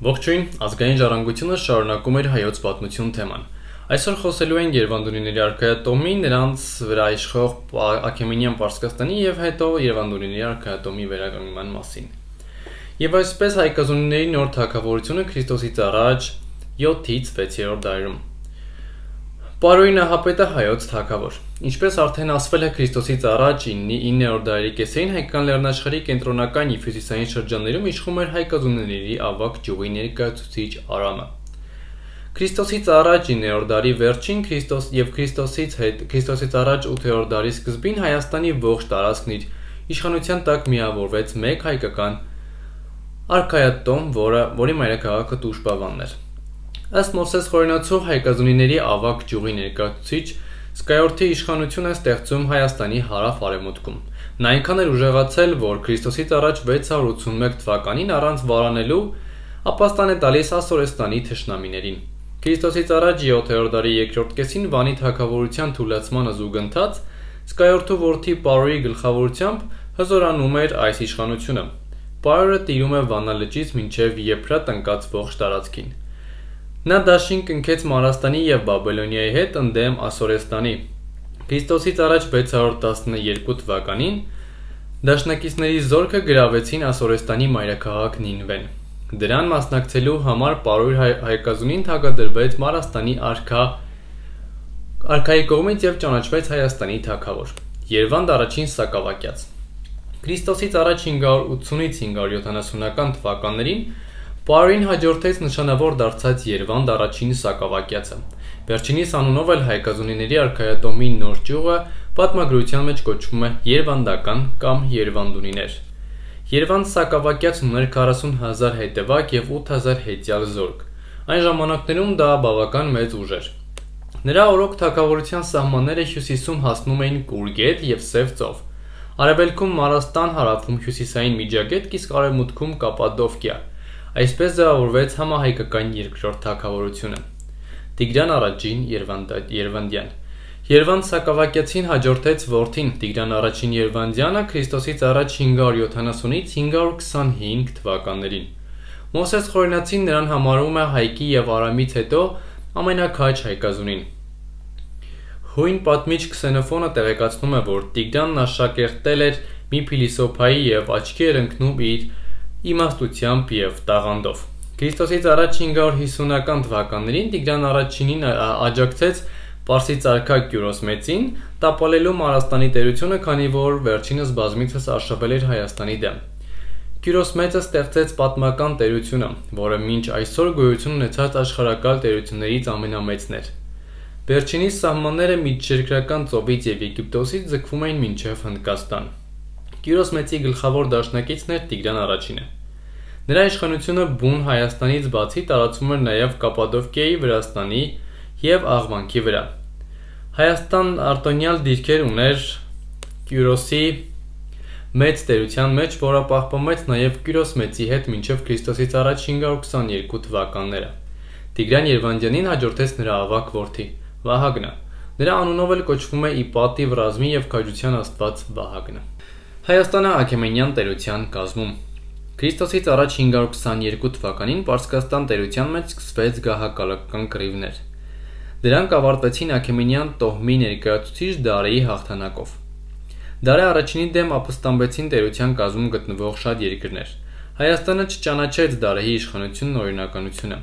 Ողջույն, ազգային ժառանգությունը շարունակում էր հայոց պատմություն թեման։ Այսօր խոսելու ենք Երևանդունիների արքայատոմի, նրանց վրա իշխող Աքեմենյան Պարսկաստանի եւ հետո Երևանդունիների արքայատոմի վերականգնման մասին։ Եվ այսպես հայկազունիների նոր թագավորությունը Քրիստոսից առաջ 7-ից 6-րդ դարերում։ Պարոյի նահապետը հայոց թագավոր։ Ինչպես արդեն ասվել է Քրիստոսից առաջ 9-րդ դարերի կեսերին հայկական լեռնաշխարհի կենտրոնական եւ հյուսիսային շրջաններում իշխում էր հայկազունիների ավագ ճյուղի ներկայացուցիչ Արամը։ Քրիստոսից առաջ 9-րդ դարի վերջին Քրիստոսից առաջ 8-րդ դարի սկզբին Հայաստանի ողջ տարածքն իր իշխանության տակ միավորվեց մեկ հայկական արքայատոմ, որի մայրաքաղաքը Տուշպավանն էր։ Ըստ Մովսես Խորենացու հայկազունիների ավագ ճյուղի ներկայացուցիչ Սկայորդի իշխանությունը ստեղծում Հայաստանի հարավ-արևմուտքում։ Նա այնքան էր ուժեղացել, որ Քրիստոսից առաջ 681 թվականին առանց վարանելու ապաստան է տալիս Ասորեստանի թշնամիներին։ Քրիստոսից առաջ 7-րդ դարի երկրորդ կեսին Վանի թագավորության թուլացմանը զուգընթաց Սկայորդու որդի Պարոյի գլխավորությամբ հզորանում էր այս իշխանությունը։ Պարոյը տիրում է Վանա լճից մինչև Եփրատ ընկած ողջ տարածքին։ Նա դաշին կնքեց Մարաստանի եւ Բաբելոնիայի հետ ընդդեմ Ասորեստանի։ Քրիստոսից առաջ 612 թվականին դաշնակիցների զորքը գրավեցին Ասորեստանի մայրաքաղաք Նինվեն։ Դրան մասնակցելու համար Պարոյ հայկազունին թագադրվեց Մարաստանի արքայի կողմից եւ ճանաչվեց Հայաստանի թագավոր։ Երվանդ առաջին սակավակյաց։ Քրիստոսից առաջ 580-ից 570-ական թվականներին Պարոյին հաջորդեց նշանավոր դարձած Երվանդ առաջին սակավակյացը։ Վերջինիս անունով էլ հայկազունիների արքայատոմի նոր ճյուղը պատմագրության մեջ կոչվում է Երվանդական կամ Երվանդունիներ։ Երվանդ սակավակյացն ուներ 40,000 հետևակ եւ 8,000 հետյալ զորք։ Այն ժամանակներում դա բավական մեծ ուժ էր։ Նրա օրոք թագավորության սահմանները հյուսիսում հասնում էին Կուրգետ եւ Սև ծով, արևելքում Մարաստան, հարավում հյուսիսային Միջագետք, իսկ արևմուտքում Կապադովկիա։ Այսպես ձևավորվեց համահայկական երկրորդ թագավորությունը։ Տիգրան առաջին Երվանդյան։ Երվանդ սակավակյացին հաջորդեց որդին Տիգրան առաջին Երվանդյանը Քրիստոսից առաջ 570-ից 525 թվականներին։ Մովսես Խորենացին նրան համարում է Հայկի եւ Արամից հետո ամենաքաջ հայկազունին։ Հույն պատմիչ Քսենոֆոնը տեղեկացնում է, որ Տիգրանն աշակերտել էր մի փիլիսոփայի եւ աչքի էր ընկնում իր իմաստությամբ եւ տաղանդով։ Քրիստոսից առաջ 550-ական թվականներին Տիգրան առաջինին աջակցեց Պարսից արքա Կյուրոս մեծին, տապալելու Մարաստանի տերությունը, քանի որ վերջինս բազմիցս արշավել էր Հայաստանի դեմ։ Կյուրոս մեծը ստեղծեց պատմական տերությունը, որը մինչ այսօր գոյություն ունեցած աշխարհակալ տերություններից ամենամեծն էր։ Վերջինիս սահմանները միջերկրական ծովից եւ Եգիպտոսից ձգվում էին մինչև Հնդկաստան։ Կյուրոս մեծի գլխավոր դաշնակիցն էր Տիգրան առաջինը։ Նրա իշխանությունը բուն Հայաստանից բացի տարածվում էր նաև Կապադովկիայի, Վրաստանի եւ Աղվանքի վրա։ Հայաստան արտոնյալ դիրքեր ուներ Կյուրոսի մեծ տերության մեջ, որը պահպանվեց նաև Կյուրոս մեծի հետ մինչև Քրիստոսից առաջ 522 թվականները։ Տիգրան Երվանդյանին հաջորդեց նրա ավագ որդի Վահագնը։ Նրա անունով էլ կոչվում է ի պատիվ ռազմի եւ քաջության աստված Վահագնը։ Հայաստանը Աքեմենյան տերության կազմում։ Քրիստոսից առաջ 522 թվականին Պարսկաստան տերության մեջ սկսվեց գահակալական կռիվներ։ Դրանք ավարտվեցին Աքեմենյան տոհմի ներկայացուցիչ Դարեի հաղթանակով։ Դարե առաջինի դեմ ապստամբեցին տերության կազմում գտնվող շատ երկրներ։ Հայաստանը չճանաչեց Դարեի իշխանությունն ու օրինականությունը։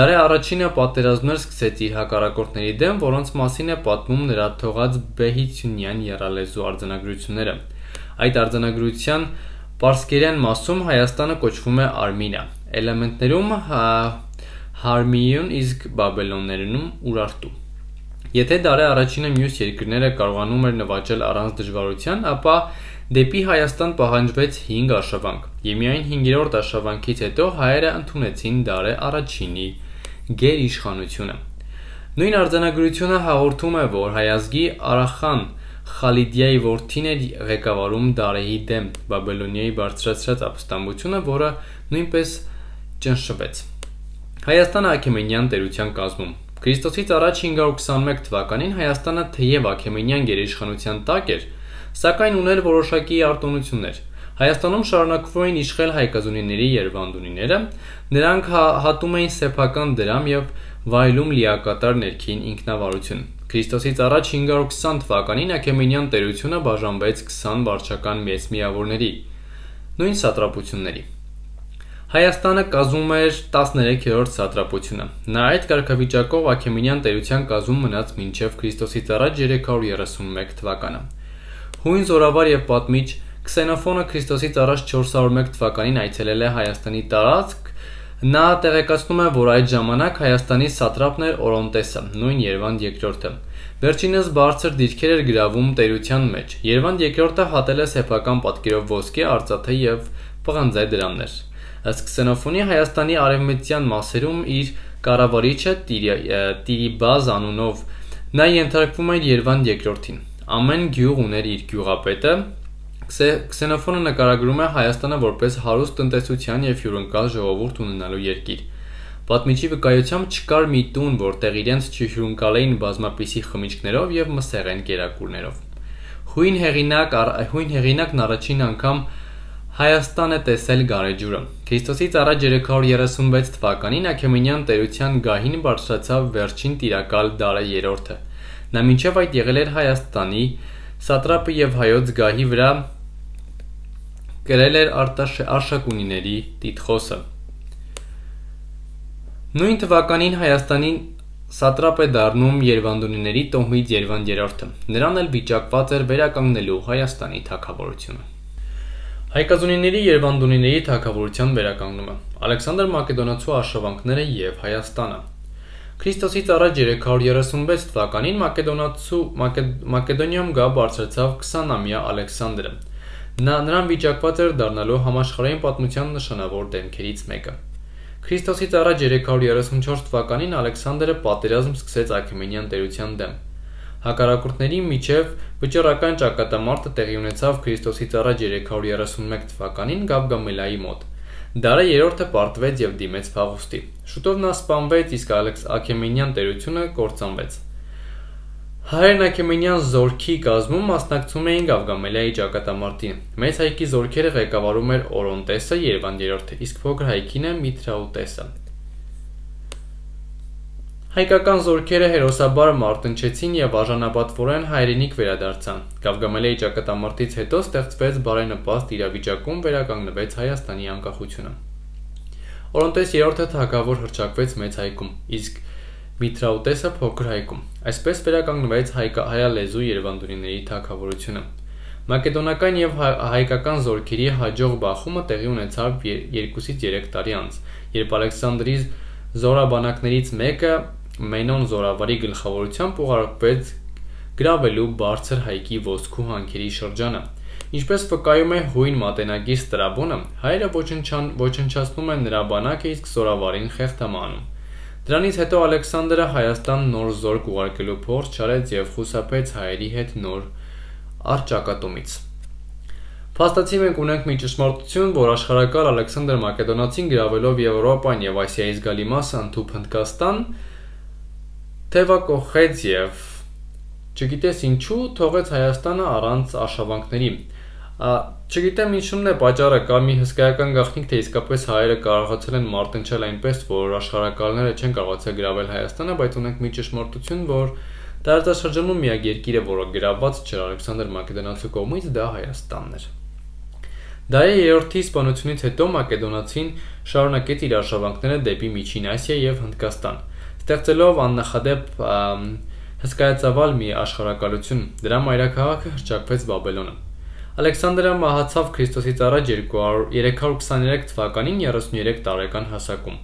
Դարե առաջինը պատերազմներ սկսեց իր հակառակորդների դեմ, որոնց մասին է պատմում նրա թողած Բեհիցյունյան եռալեզու արձանագրությունները։ Այդ արձանագրության պարսկերեն մասում Հայաստանը կոչվում է Արմինա, էլեմենտներում Հարմիյուն, իսկ Բաբելոններում Ուրարտու։ Եթե Դարե առաջինը մյուս երկրները կարողանում էր նվաճել առանց դժվարության, ապա դեպի Հայաստան պահանջվեց 5 արշավանք, եւ միայն 5-րդ արշավանքից հետո հայերը ընդունեցին Դարե առաջինի գերիշխանությունը։ Նույն արձանագրությունը հաղորդում է, որ հայազգի Արախան Խալիդիայի որդին էր ղեկավարում Դարեի դեմ Բաբելոնիայի բարձրացրած ապստամբությունը, որը նույնպես ճնշվեց։ Հայաստանը Աքեմենյան տերության կազմում։ Քրիստոսից առաջ 521 թվականին Հայաստանը թեև Աքեմենյան գերիշխանության տակ էր, սակայն ուներ որոշակի արտոնություններ։ Հայաստանում շարունակվում էին իշխել հայկազունիների երվանդունիները, նրանք հատում էին սեփական դրամ եւ վայելում լիակատար ներքին ինքնավարություն։ Քրիստոսից առաջ 520 թվականին Աքեմենյան տերությունը բաժանվեց 20 վարչական մեծ միավորների, նույն սատրապությունների։ Հայաստանը կազմում էր 13-րդ սատրապությունը։ Նա այդ կարգավիճակով Աքեմենյան տերության կազմում մնաց մինչև Քրիստոսից առաջ 331 թվականը։ Հույն զորավար եւ պատմիչ Քսենոֆոնը Քրիստոսից առաջ 401 թվականին այցելել է Հայաստանի տարածք։ Նա տեղեկացնում է, որ այդ ժամանակ Հայաստանի սատրապն էր Օրոնտեսը, նույն Երվանդ II-ը։ Վերջինս բարձր դիրքեր էր գրավում տերության մեջ։ Երվանդ II-ը հատել է սեփական պատկերով ոսկե, արծաթե եւ պղնձե դրամներ։ Ըստ Քսենոֆոնի Հայաստանի արևմտյան մասերում իր կառավարիչը Տիրիբազ անունով նա ենթարկվում էր Երվանդ II-ին։ Ամեն գյուղ ուներ իր գյուղապետը։ Քսենոֆոնը նկարագրում է Հայաստանը որպես հարուստ տնտեսության եւ հյուրընկալ ժողովուրդ ունենալու երկիր։ Պատմիչի վկայությամբ չկար մի տուն, որտեղ իրենց չհյուրընկալեին բազմապիսի խմիչքներով եւ մսեղեն կերակուրներով։ Հույն հեղինակն առաջին անգամ Հայաստան է տեսել գարեջուրը։ Քրիստոսից առաջ 336 թվականին Աքեմենյան տերության գահին բարձրացավ վերջին տիրակալ Դարը III-ը։ Նա մինչև այդ եղել էր Հայաստանի սատրապը եւ հայոց գահի վրա կրել էր Արշակունիների տիտղոսը։ Նույն թվականին Հայաստանին սատրապ է դառնում Երվանդունիների տոհմից Երվանդ III-ը։ Նրան էլ վիճակված էր վերականգնելու Հայաստանի թագավորությունը։ Հայկազունիների Երվանդունիների թագավորության վերականգնումը, Ալեքսանդր Մակեդոնացու արշավանքները եւ Հայաստանը։ Քրիստոսից առաջ 336 թվականին Մակեդոնիայում գա բարձրացավ 20-ամյա Ալեքսանդրը։ Նրան վիճակված էր դառնալու համաշխարհային պատմության նշանավոր դեմքերից մեկը։ Քրիստոսից առաջ 334 թվականին Ալեքսանդրը պատերազմ սկսեց Աքեմենյան տերության դեմ։ Հակառակորդների միջև վճռական ճակատամարտը տեղի ունեցավ Քրիստոսից առաջ 331 թվականին Գավգամելայի մոտ։ Դարը III-ը պարտվեց եւ դիմեց փախուստի։ Շուտով նա սպանվեց, իսկ Աքեմենյան տերությունը կործանվեց։ Հայերն Աքեմենյան զորքի կազմում մասնակցում էին Գավգամելայի ճակատամարտին։ Մեծ հայքի զորքերը ղեկավարում էր Օրոնտեսը, Երվանդ III-ը, իսկ փոքր հայքինը Միթրաուտեսը։ Հայկական զորքերը հերոսաբար մարտնչեցին եւ արժանապատվորեն հայրենիք վերադարձան։ Գավգամելայի ճակատամարտից հետո ստեղծվեց բարենպաստ իրավիճակում վերականգնվեց Հայաստանի անկախությունը։ Օրոնտես III-ը թագավոր հռչակվեց մեծ հայքում, իսկ Միթրաուտեսը փոքր հայքում։ Այսպես վերականգնվեց հայալեզու Երվանդունիների թագավորությունը։ Մակեդոնական եւ հայկական զորքերի հաջող բախումը տեղի ունեցավ 2-ից 3 տարի անց, երբ Ալեքսանդրի զորաբանակներից մեկը Մենոն զորավարի գլխավորությամբ ուղարկվեց գրավելու բարձր հայքի ոսկու հանքերի շրջանը։ Ինչպես վկայում է հույն մատենագիր Ստրաբոնը, հայերը ոչնչացնում են նրա բանակը, իսկ զորավարին խեղդամանում։ Դրանից հետո Ալեքսանդրը Հայաստան նոր զորք ուղարկելու փորձ չարեց եւ խուսափեց հայերի հետ նոր առճակատումից։ Փաստացի մենք ունենք մի ճշմարտություն, որ աշխարհակալ Ալեքսանդր Մակեդոնացին գրավելով Եվրոպան եւ Ասիայի զգալի մասը ընդհուպ Հնդկաստան թևակողեց եւ չգիտես ինչու թողեց Հայաստանը առանց արշավանքների։ Չգիտեմ ինչու՞մն է պատճառը, կա մի հսկայական գաղտնիք, թե իսկապես հայերը կարողացել են մարտնչել այնպես, որ աշխարհակալները չեն կարողացել գրավել Հայաստանը, բայց ունենք մի ճշմարտություն, որ տարածաշրջանում միակ երկիրը, որը գրաված չէր Ալեքսանդր Մակեդոնացու կողմից, դա Հայաստանն էր։ Դարի III-ի սպանությունից հետո Մակեդոնացին շարունակեց իր արշավանքները դեպի Միջին Ասիա եւ Հնդկաստան, ստեղծելով աննախադեպ հսկայածավալ մի աշխարհակալություն։ Դրա մայրաքաղաքը հռչակվեց Բաբելոնը։ Ալեքսանդրը մահացավ Քրիստոսից առաջ 323 թվականին 33 տարեկան հասակում։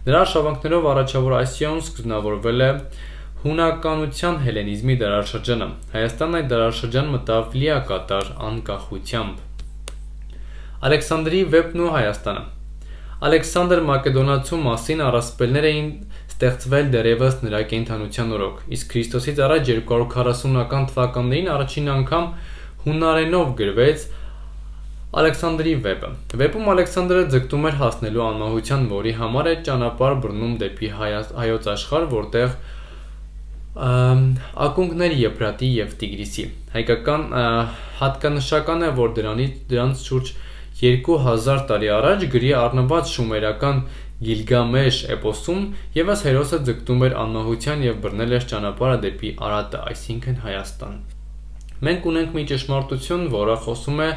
Նրա արշավանքներով առաջավոր Ասիայում սկզբնավորվել է հունականության հելենիզմի դարաշրջանը։ Հայաստանն այդ դարաշրջան մտավ լիակատար անկախությամբ։ Ալեքսանդրի վեպն ու Հայաստանը։ Ալեքսանդր Մակեդոնացու մասին առասպելներ էին ստեղծվել դեռևս նրա կենդանության օրոք, իսկ Քրիստոսից առաջ 240-ական թվականներին առաջին անգամ հունարենով գրվեց Ալեքսանդրի վեպը։ Վեպում Ալեքսանդրը ձգտում էր հասնելու անմահության, որի համար է ճանապարհ բռնում դեպի հայոց աշխարհ, որտեղ ակունքներ Եփրատի եւ Տիգրիսի։ Հայկական հատկանշական է, որ դրանց շուրջ 2000 տարի առաջ գրի առնված շումերական Գիլգամեշ էպոսում ևս հերոսը ձգտում էր անմահության և բռնել էր ճանապարհը դեպի Արատը, այսինքն Հայաստան։ Մենք ունենք մի ճշմարտություն, որը խոսում է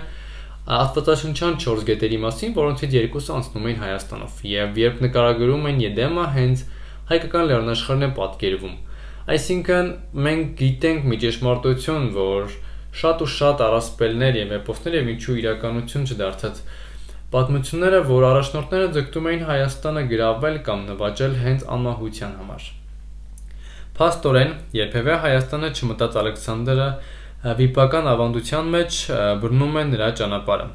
Աստվածաշնչյան 4 գետերի մասին, որոնցից երկուսը անցնում են Հայաստանով, և երբ նկարագրում են Եդեմը, հենց հայկական լեռնաշխարհն է պատկերվում։ Այսինքն մենք գիտենք մի ճշմարտություն, որ շատ ու շատ առասպելներ և էպոսներ և ինչու իրականություն չդարձած պատմությունները, որ առաջնորդները ձգտում էին Հայաստանը գրավել կամ նվաճել հենց անմահության համար։ Փաստորեն, երբևէ Հայաստանը չմտած Ալեքսանդրը վիպական ավանդության մեջ բռնում է նրա ճանապարհը։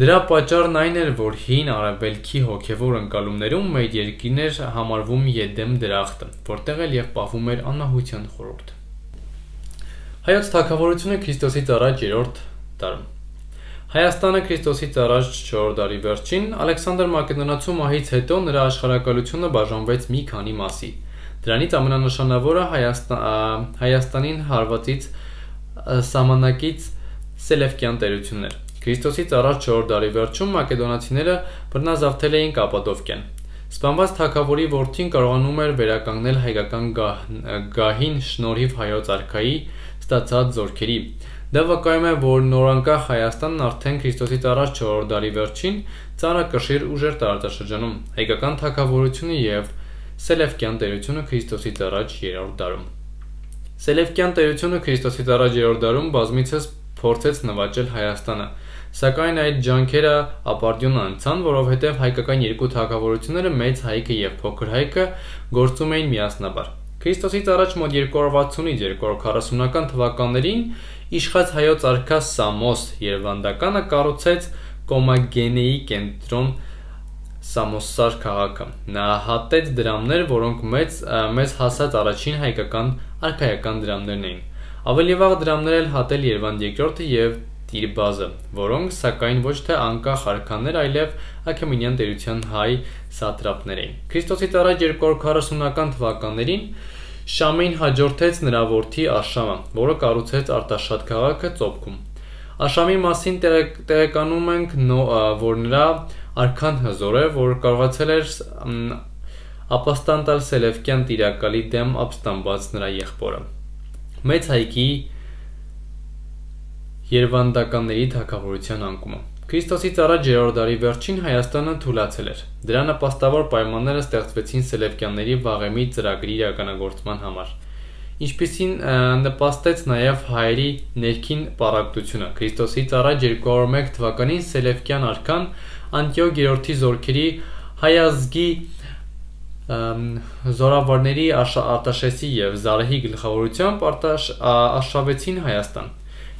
Դրա պատճառն այն էր, որ հին արևելքի հոգևոր ընկալումներում մեր երկիրն էր համարվում Եդեմ դրախտը, որտեղ էլ և պահվում էր անմահության խորհուրդը։ Հայոց թագավորությունը Քրիստոսից առաջ 3-րդ դարում։ Հայաստանը Քրիստոսից առաջ 4-րդ դարի վերջին Ալեքսանդր Մակեդոնացու մահից հետո նրա աշխարհակալությունը բաժանվեց մի քանի մասի։ Դրանից ամենանշանավորը Հայաստանին հարվածից սահմանակից Սելևկյան տերությունն էր։ Քրիստոսից առաջ 4-րդ դարի վերջում մակեդոնացիները բռնազավթել էին Կապադովկիան։ Սպանված թագավորի որդին կարողանում էր վերականգնել հայկական գահին շնորհիվ հայոց արքայի ստացած զորքերի։ Դա վկայում է, որ նորանկախ Հայաստանն արդեն Քրիստոսից առաջ 4-րդ դարի վերջին ծանրակշիռ ուժ էր տարածաշրջանում, հայկական թագավորությունը և Սելևկյան տերությունը Քրիստոսից առաջ 3-րդ դարում։ Սելևկյան տերությունը Քրիստոսից առաջ 3-րդ դարում բազմիցս փորձեց նվաճել Հայաստանը, սակայն այդ ջանքերը ապարդյուն անցան, որովհետև հայկական երկու թագավորությունները Մեծ Հայքը և Փոքր Հայքը գործում էին միասնաբար։ Քրիստոսից առաջ մոտ 260-ից 240-ական թվականներին իշխած հայոց արքա Սամոս Երվանդականը կառուցեց Կոմագենեի կենտրոն Սամոսար քաղաքը։ Նա հատեց դրամներ, որոնք մեզ հասած առաջին հայկական արքայական դրամներն էին։ Ավելի վաղ դրամներ էլ հատել Երվանդ II-ը և Տիրբազը, որոնք սակայն ոչ թե անկախ արքաներ, այլև Աքեմենյան տերության հայ սատրապներ էին։ Քրիստոսից առաջ 240-ական թվականներին Շամին հաջորդեց նրա որդի Աշամը, որը կառուցեց Արտաշատ քաղաքը Ծոպքում։ Աշամի մասին տեղեկանում ենք, որ նրա արքան հզոր է, որ կարողացել էր ապաստան տալ Սելևկյան տիրակալի դեմ ապստամբած նրա եղբորը։ Մեծ Հայքի Երվանդականների թագավորության անկումը։ Քրիստոսից առաջ 3-րդ դարի վերջին Հայաստանը թուլացել էր։ Դրա նպաստավոր պայմանները ստեղծվեցին Սելևկյանների վաղեմի ծրագրի իրականագործման համար, ինչպիսին նպաստեց նաև հայերի ներքին պառակտությունը։ Քրիստոսից առաջ 201 թվականին Սելևկյան արքան Անտիոք III-ի զորքերի հայազգի զորավարների Արտաշեսի և Զարեհի գլխավորությամբ արշավեցին Հայաստան։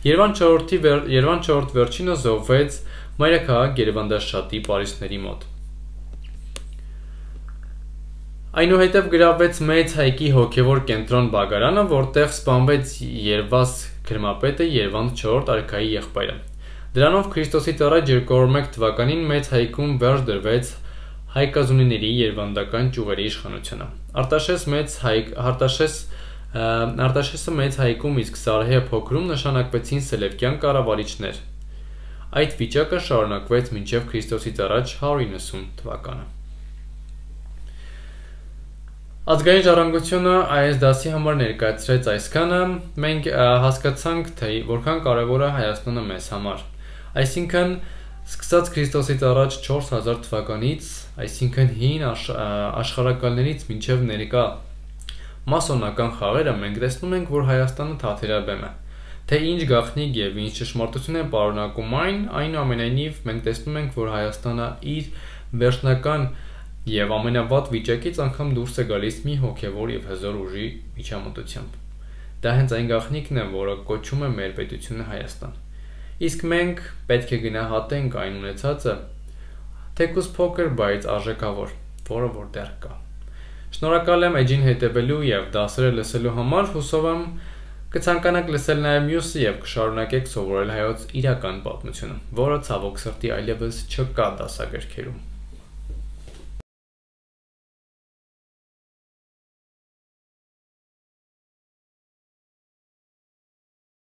Երվանդ IV վերջինը զոհվեց մայրաքաղաք Երվանդաշատի պարիսպների մոտ։ Այնուհետև գրավվեց Մեծ Հայքի հոգևոր կենտրոն Բագարանը, որտեղ սպանվեց Երվաս Քրմապետը, Երվանդ IV արքայի եղբայրը։ Դրանով Քրիստոսից առաջ 201 թվականին Մեծ Հայքում վերջ դրվեց հայկազունիների երվանդական ճյուղերի իշխանությունը։ Արտաշեսը Մեծ Հայքում, իսկ Զարեհը Փոքրում նշանակվեցին Սելևկյան կառավարիչներ։ Այդ վիճակը շարունակվեց մինչև Քրիստոսից առաջ 190 թվականը։ Ազգային ժառանգությունը այս դասի համար ներկայացրեց այսքանը։ Մենք հասկացանք, թե որքան կարևոր է Հայաստանը մեզ համար։ Այսինքն, սկսած Քրիստոսից առաջ 4000 թվականից, այսինքն հին աշխարհակալներից մինչև ներկա մասոնական խաղերը, մենք տեսնում ենք, որ Հայաստանը թաթերաբեմ է։ Թե ինչ գաղտնիք և ինչ ճշմարտություն է պարունակում այնուամենայնիվ մենք տեսնում ենք, որ Հայաստանը իր վերջնական և ամենավատ վիճակից անգամ դուրս է գալիս մի հոգևոր և հզոր ուժի միջամտությամբ։ Դա հենց այն գաղտնիքն է, որը կոչում է մեր պետությունը Հայաստան։ Իսկ մենք պետք է գնահատենք այն ունեցածը, թեկուզ փոքր, բայց արժեքավոր, որը որ դեռ կա։ Շնորհակալ եմ էջին հետևելու և դասերը լսելու համար, հուսով եմ կցանկանաք լսել նաև մյուսը և կշարունակեք սովորել հայոց իրական պատմությունը, որը ցավոք սրտի այլևս չկա դասագրքերում։